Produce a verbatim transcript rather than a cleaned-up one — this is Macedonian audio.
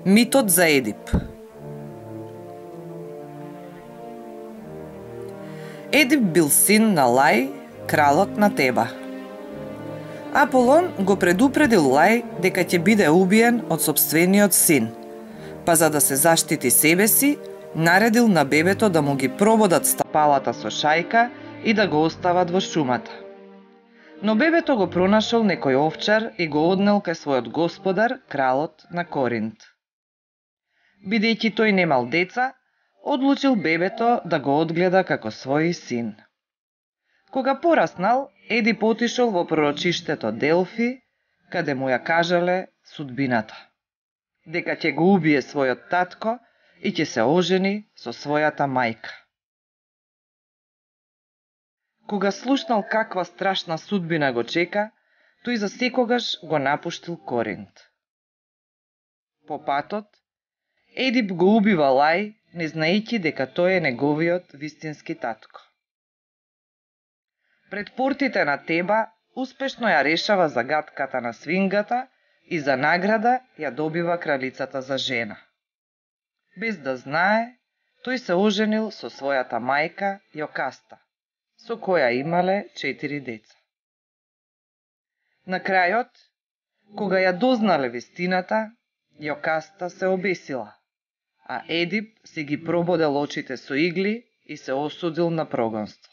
Митот за Едип. Едип бил син на Лај, кралот на Теба. Аполон го предупредил Лај дека ќе биде убиен од сопствениот син, па за да се заштити себе си, наредил на бебето да му ги прободат стапалата со шајка и да го остават во шумата. Но бебето го пронашол некој овчар и го однел кај својот господар, кралот на Коринт. Бидејќи тој немал деца, одлучил бебето да го одгледа како свој син. Кога пораснал, Едип отишол во пророчиштето Делфи, каде му ја кажале судбината. Дека ќе го убие својот татко и ќе се ожени со својата мајка. Кога слушнал каква страшна судбина го чека, тој за секогаш го напуштил Коринт. По патот, Едип го убива Лај, не знаејќи дека тој е неговиот вистински татко. Пред портите на Теба успешно ја решава загадката на свингата и за награда ја добива кралицата за жена. Без да знае, тој се оженил со својата мајка Јокаста, со која имале четири деца. На крајот, кога ја дознале вистината, Јокаста се обесила, а Едип си ги прободел очите со игли и се осудил на прогонство.